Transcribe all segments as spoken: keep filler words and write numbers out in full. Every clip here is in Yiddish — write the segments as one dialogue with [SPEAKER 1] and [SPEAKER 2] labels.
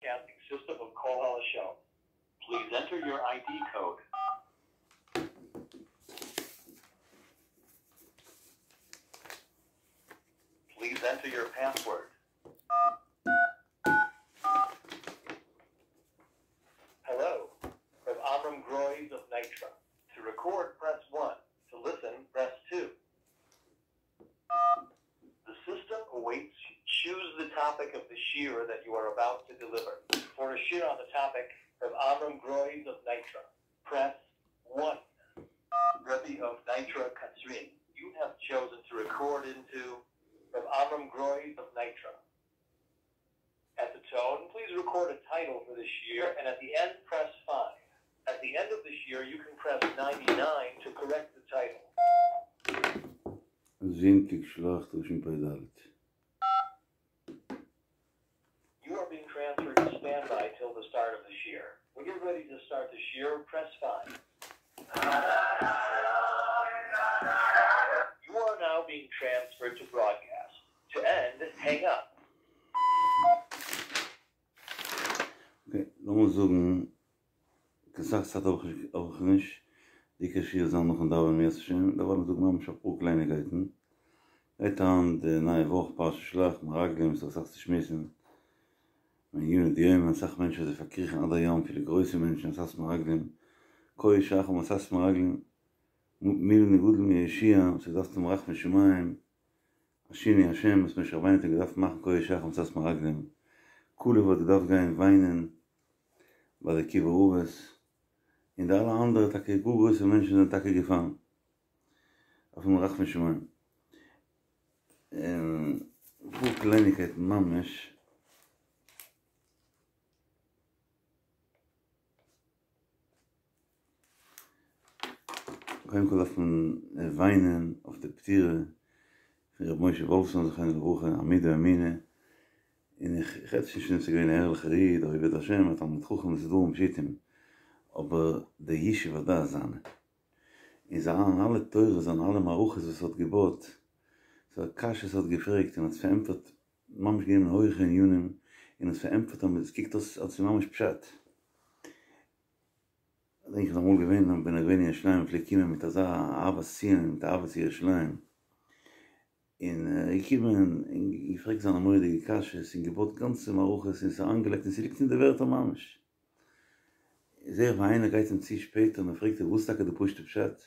[SPEAKER 1] broadcasting system of Kol Halashon. Please enter your ID code. Please enter your password. Hello, from Amram Groys of Nitra. To record, press one. To listen, press two. The system awaits. Choose the topic of the shiur that you are about to deliver. For a shiur on the topic of Amram Groys of Nitra, press one. Rebbe of Nitra Katzrin, you have chosen to record into from Amram Groys of Nitra. At the tone, please record a title for this year, and at the end, press five. At the end of this year, you can press ninety-nine to correct the title.
[SPEAKER 2] זונטיק שלח תשפ"ד.
[SPEAKER 1] You are being transferred to standby till the start of this year. When you're ready to start this year, press five. You are now being transferred to broadcast. To end, hang up.
[SPEAKER 2] Okay, לאמיר זאגן, קיין סאך צייט האב איך האב איך נישט, די עיקר שיעור זאל נאכן דאווענען אם ירצה השם, דערווייל זאגן ממש אפאר קלייניקייטן. גייט אן די נייע וואך פרשת שלח, מרגלים, ס'איז אסאך צו שמועסן. מעניני דיומא, אסאך מענטשן זיי פארקריכן עד היום, אפילו גרויסע מענטשן, מסת מרגלים, כה אחר מסת מרגלים, מילין גדול מיהושע, וואס האט געדארפט האבן רחמי שמים, השיני השם, וואס משה רבינו האט געדארפט מאכן כה אחר מסת מרגלים, כלב האט געדארפט גיין וויינען ביי די קברי אבות, און די אלע אנדערע טאקע גאר גרויסע מענטשן זענען טאקע געפאלן אויפן רחמי שמים. און אפאר קלייניקייטן ממש. קודם כל דארף מען וויינען אויף די פטירה פון ר' משה וואלפסאן זכרונו לברכה, עמוד האמונה, און איך רעד נישט פון ס'איז געווען א ערליכער איד, א עובד השם, א תלמיד חכם, עס איז דברים פשוטים, אבער די ישוב הדעת זיינע, און זיינע אלע תורות, זיינע אלע מערכות וואס ער האט געבויט, ס'איז א קשיא וואס ער האט געפרעגט און האט עס פארענטפערט, ממש גענומען הויכע ענינים און עס פארענטפערט אז עס קוקט אויס אז עס איז ממש פשט. כ'דענק איך איז אמאל געווען ווען ער איז געווען אין ירושלים ער פלעגט קומען מיט אזא אהבת ציון מיט אהבת ירושלים און ער איז געקומען און געפרעגט זיינע מורא'דיגע קשיות און געבויט גאנצע מערכות און עס אריינגעלייגט און ס'ליגט אין די ווערטער ממש. זעה איך ווי איינער גייט אים צו שפעטער און ער פרעגט אים וואס איז טאקע די פשוט'ע פשט?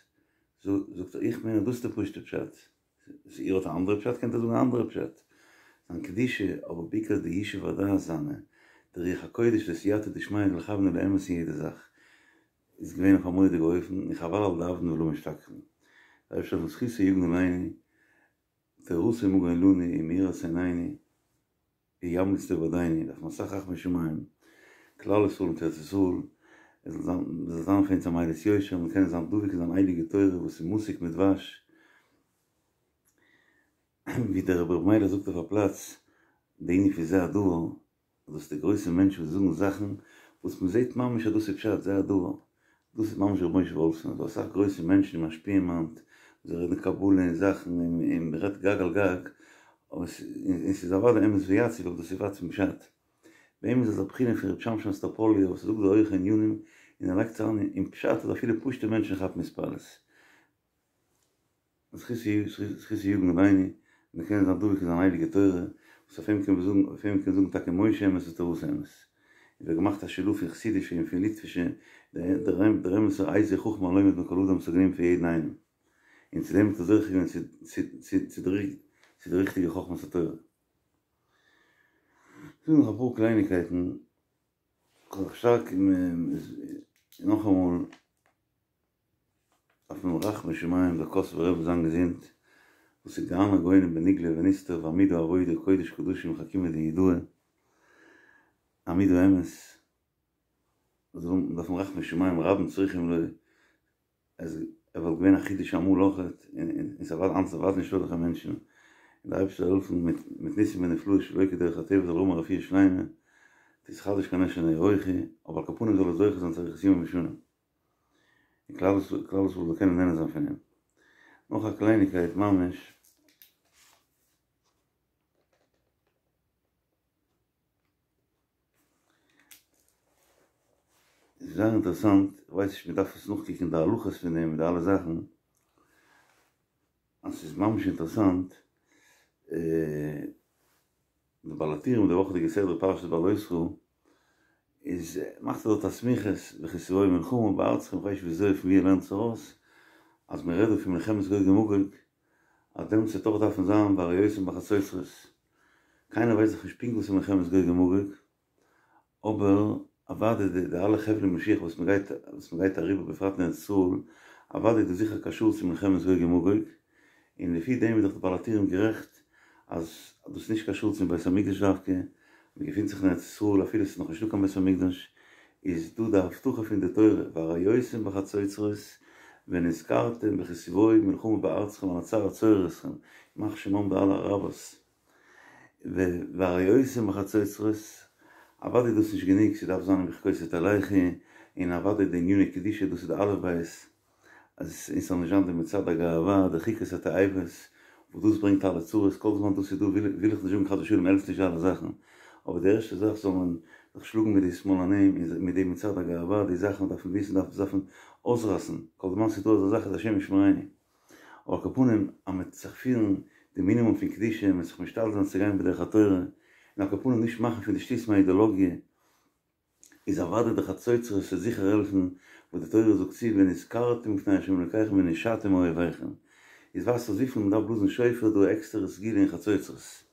[SPEAKER 2] זאגט ער איך מיין אז דאס איז די פשוט'ע פשט. איר האט א אנדערע פשט קענט איר זאגן א אנדערע פשט. זיין קדושה, אבער בעיקר די ישוב הדעת זיינע, די רוח הקודש די סייעתא דשמיא לכוון לאמת אין יעדע זאך, איז געווען אויף א מורא'דיגע אופן, און חבל על דאבדין ולא משתכחין. דער אייבערשטער זאל זכותו יגן עלינו, תורתו מגן לנו ומאירת עינינו, ימליץ לטוב בעדנו, דארף מען אסאך רחמי שמים, כלל ישראל און ארץ ישראל, עס זאל זיין, עס זאל זיין פאר אונז א מליץ יושר, מיר קענען זיין דבוק אין זיין הייליגע תורה וואס איז מתוק מדבש, ווי דער רבי ר' מיילעך זאגט אויף א פלאץ, די ענין פון זה הדבר, דאס די גרויסע מענטשן וואס זאגן זאכן וואס מען זעט ממש אז דאס איז פשט, זה הדבר, דאס איז ממש ר' משה וואלפסאן, ס'דא אסאך גרויסע מענטשן און משפיעים היינט, זיי רעדן קבלה און זאכן און מען רעדט גג על גג, אבער און ס'איז אוודאי אמת ויציב אבער דאס איז ווייט פון פשט. ביי אים איז אזא בחינה פון ר' שמשון אסטראפאליער וואס זאגט די הויכע ענינים און ער לייגט עס אריין אין פשט אז אפילו פשוטע מענטשן כאפן התפעלות. זכותו יגן עלינו, מיר קענען זיין דבוק אין זיין הייליגע תורה, וואס אויף אים קען מען זאגן, אויף אים קען מען זאגן טאקע משה אמת ותורתו אמת. און ווערט געמאכט א שילוב פון חסידישע און פון ליטווישע, דער אמת'ער איזהו חכם הלומד מכל אדם וואס האט גענומען פון יעדן איינעם. און צו דעם האט ער זוכה געווען צו די ריכטיגע חכמת התורה. כ'זאג נאך אפאר קלייניקייטן, כ'האב זיך שטארק נאכאמאל דארף מען רחמי שמים דער קאסובער רבי זיין געזונט, וואס איז גאון הגאונים בנגלה ונסתר ועמוד העבודה קודש קדשים חכימא דיהודאי, עמוד האמת, דארף מען רחמי שמים רבים צריכים לו, עס ער וואלט געווען א חידוש אמאל אויכעט, און ס'איז אוודאי היינט איז אוודאי נישטא אזעלכע מענטשן, און דער אייבערשטער זאל העלפן מיט מיט ניסים ונפלאות שלא כדרך הטבע זאל האבן א רפואה שלימה, תתחדש כנשר נעוריכי, אבער על כל פנים זאל ער זוכה זיין צו אריכות ימים ושנים. און כלל ישראל כלל ישראל זאל קענען נהנה זיין פון אים. נאך א קלייניגקייט ממש. ס'איז זייער אינטערעסאנט, איך ווייס נישט מ'דארף עס נאכקוקן די הלכות פון דעם מיט די אלע זאכן, אז ס'איז ממש אינטערעסאנט, די בעל הטורים די וואכעדיגע סדרה פרשת בהעלותך איז מאכט ער דארט א סמיכות וכי תבוא מלחמה בארצכם איך ווייס נישט וויאזוי פון ווי ער לערנט עס ארויס אז מען רעדט דא פון מלחמת גוג ומגוג אז דעמאלטס וועט אויך דארפן זיין והרעותם בחצוצרות קיינער ווייסט דאך נישט פונקט וואס איז מלחמת גוג ומגוג אבער אוודאי די די אלע חבלי משיח וואס מען גייט וואס מען גייט אריבער בפרט אין ארץ ישראל אוודאי איז דאס זיכער קשור צו מלחמת גוג ומגוג און לפי דעם איז דאך די בעל הטורים גערעכט אז דאס איז נישט קשור צום בית המקדש דווקא, מען געפינט זיך אין ארץ ישראל אפילו עס איז נאך נישטא קיין בית המקדש איז דא די הבטחה פון די תורה והרעותם בחצוצרות ונזכרתם וכי תבוא מלחמה בארצכם על הצר הצורר אתכם ימח שמם די אלע אראבערס והרעותם בחצוצרות, אוודאי איז דאס נישט גענוג, ס'דארף זיין אם בחוקותי תלכו, און אוודאי די עניני קדושה, דאס איז די אלף בית, אז עס זאל נישט זיין די מצעד הגאווה, די חוקות התועבות, וואס דאס ברענגט אלע צרות, כל זמן דאס איז דא וויל איך נישט זאגן חס ושלום העלפט נישט די אלע זאכן, אבער די ערשטע זאך זאל מען זיך שלאגן מיט די שמאלנים און מיט די מצעד הגאווה, די זאכן דארף מען וויסן דארף מען אויסרייסן, כל זמן ס'איז דא אזא זאך איז השם ישמרינו. אבער על כל פנים אז מ'וועט זיך פירן די מינימום פון קדושה, מ'וועט זיך משתדל זיין צו גיין בדרך התורה, און על כל פנים נישט מאכן פון די שטותים א אידעלאגיע, איז אוודאי די חצוצרות וועט זיכער העלפן, וואס די תורה זאגט צו ונזכרתם לפני ה' אלקיכם ונושעתם מאויביכם, איז ווייזט אויס וויפיל מ'דארף בלאזן שופר איז דא א עקסטערע סגולה אין חצוצרות.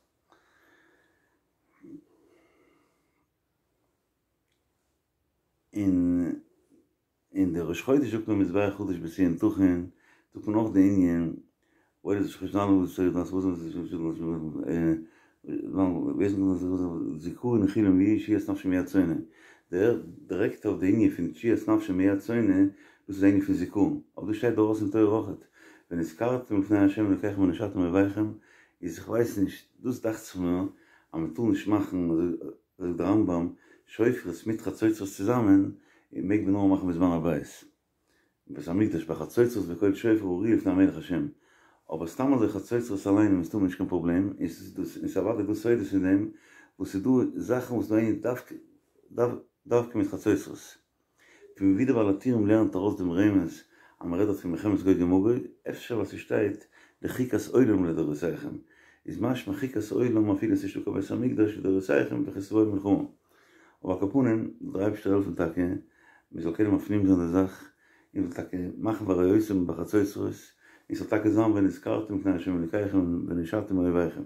[SPEAKER 2] און אין די ראש חודש זאגט מען מזבח חדש בציון תכין, זאגט מען אויך די ענין, זכרון נחילים לי ישועת נפשי מיד שונא, דירעקט אויף די ענין פון ישועת נפשי מיד שונא, דאס איז די ענין פון זכרון, אבער דאס שטייט דא אויס אין תורה אויכעט, ונזכרתם לפני ה' אלקיכם ונושעתם מאויביכם, איז איך ווייס נישט, דאס דאכט זיך מיר אז מען טאר נישט מאכן זאגט דער רמב"ם, שופרות מיט חצוצרות צוזאמען מעג מען נאר מאכן בזמן הבית, אין בית המקדש בחצוצרות וקול שופר הריעו לפני המלך השם, אבער סתם אזוי חצוצרות אליין איז מסתמא נישט קיין פראבלעם, און ס'איז אוודאי דא סודות אין דעם, וואס ס'איז דא זאכן וואס נאר דווקא מיט חצוצרות. פון ווי דער בעל הטורים לערנט ארויס דעם רמז אז מען רעדט דארט פון מלחמת גוג ומגוג, אפשר ווייל ס'שטייט לחוקת עולם לדורותיכם, איז משמע חוקת עולם אפילו ס'איז נישטא קיין בית המקדש לדורותיכם וכי תבוא מלחמה. אבער על כל פנים, זאל דער אייבערשטער העלפן טאקע מען זאל קענען מפנים זיין די זאך, און זאל טאקע מאכן והרעותם בחצוצרות, און ס'זאל טאקע זיין ונזכרתם לפני ה' אלוקיכם ונושעתם מאויביכם.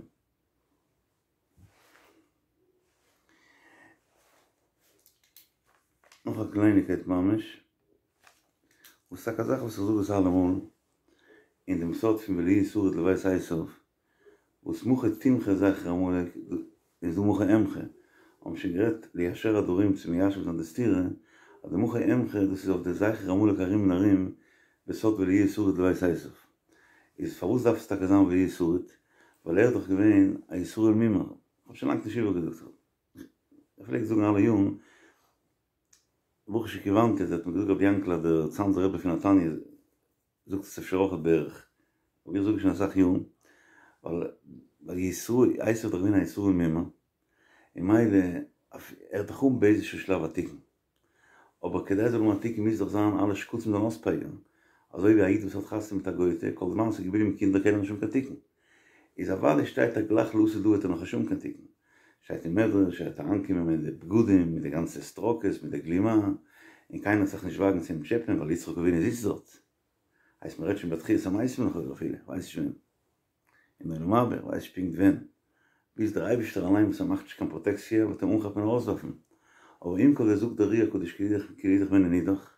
[SPEAKER 2] נאך א קלייניקייט ממש, וואס טאקע א זאך וואס איך זאג עס אלעמאל, אין דעם סוד פון ולו יהי שריד לבית עשיו, וואס מחה תמחה זכר עמלק, איז דא מחה אמחה, האבן שוין גערעדט ליישר הדברים צו מיישב זיין די סתירה, אז די מחה אמחה דאס איז אויף די זכר עמלק ארום און ארום, בסוד ולו יהי שריד לבית עשיו. איז פארוואס דארף עס טאקע זיין ולו יהי שריד? ווייל ער איז דאך געווען א ישראל מומר, כ'האב שוין לאנג נישט איבערגעזאגט, כ'פלעג זאגן אלע יארן, ברוך שכיוונתי, האט מיר געזאגט רבי יענקל אז דער צאנזער רבי פון נתניה זאגט עס אפשר אויכעט בערך, אבער איך זאג עס שוין אסאך יארן, ווייל ישראל, עשו איז דאך געווען א ישראל מומר, און ממילא ער וועט דאך האבן באיזשהו שלב א תיקון, אבער כדי ער זאל האבן א תיקון מוז דאך זיין אלע שקצים זאלן אויספייגערן, אזוי ווי א איד וואס האט חתונה מיט א גוי'טע, כל זמן עס איז געבליבן קינדער קען ער נישט האבן קיין תיקון. איז אוודאי שטייט ער גלייך לעתיד לבא וועט ער נאך נישט האבן קיין תיקון. שטייט אין מדרש ער וועט אריינקומען מיט די בגדים, מיט די גאנצע סטראקעס, מיט די גלימה, און קיינער וועט זיך נישט וואגן צו אים טשעפען ווייל יצחק אבינו זיצט דארט. הייסט מ'רעדט שוין ביי תחיית המתים לכאורה אפילו, כ'ווייס נישט ווען. אין עולם הבא, כ'ווייס נישט פונקט ווען. ביז דער אייבישטער אליין וואס ער מאכט נישט קיין פראטעקציע וועט אים אנכאפן און ארויסווארפן. אבער עם כל זה זאגט דער אר"י הקדוש כי לאידך והן לנידך,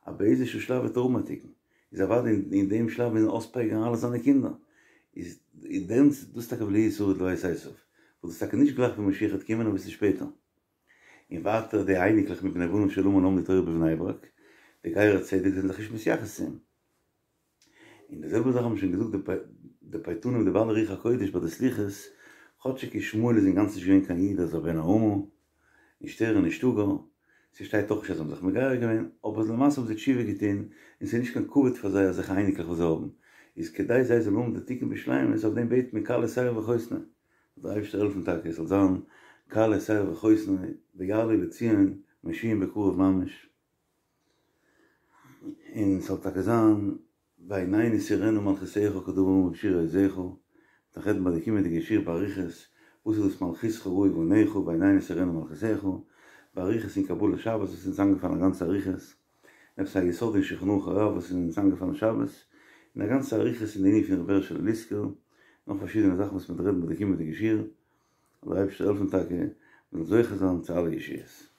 [SPEAKER 2] אז באיזשהו שלב וועט ער האבן א תיקון. איז אוודאי אין דעם שלב מוזן אויספייגערן אלע זיינע קינדער. איז דעמאלטס דאס טאקע ולו יהי שריד לבית עשיו. וואס דאס איז טאקע נישט גלייך ווען משיח וועט קומען אביסל שפעטער. און ווייטער די אייניקלעך מבני בניו של המן לומדי תורה בבני ברק, די גרי צדק זענען זיך נישט מתייחס צו אים. און די זעלבע זאך האבן שוין געזאגט די פייטנים די בעלי רוח הקודש ביי די סליחות, כאטשיג ישמעאל איז אינגאנצן נישט געווען קיין איד אזא בן האומה, און שטערן נישטא גאר, ס'שטייט אויך נישט אז זיי האבן זיך מגייר געווען, אבער למעשה האבן זיי תשובה געטון, און ס'איז נישט קיין כבוד פאר זיי אזעלכע אייניקלעך וואס זיי האבן, איז כדי זיי זאלן האבן די תיקון בשלימות אויף דעם בעט מען כלה שער וחותנו, זאל דער אייבערשטער העלפן טאקע עס זאל זיין כלה שער וחותנו ויעלו לציון מושיעים בקרוב ממש. און ס'זאל טאקע זיין ועינינו תראינה מלכותך כדבר האמור בשיר עוזך, מ'וועט נאך רעדן ביי די קומענדיגע שיעור באריכות וואס איז דאס מלכותך ראו בניך ועינינו תראינה מלכותך, באריכות אין קבלת שבת וואס איז אונז איינגעפאלן א גאנצע אריכות, עפעס א יסוד אין שולחן ערוך הרב וואס איז אונז איינגעפאלן שבת, און א גאנצע אריכות אין די ענין פון רבי הערשעלע ליסקער, נאך פארשידענע זאכן וואס מ'וועט רעדן ביי די קומענדיגע שיעור, זאל דער אייבערשטער העלפן טאקע מ'זאל זוכה זיין צו אלע ישועות.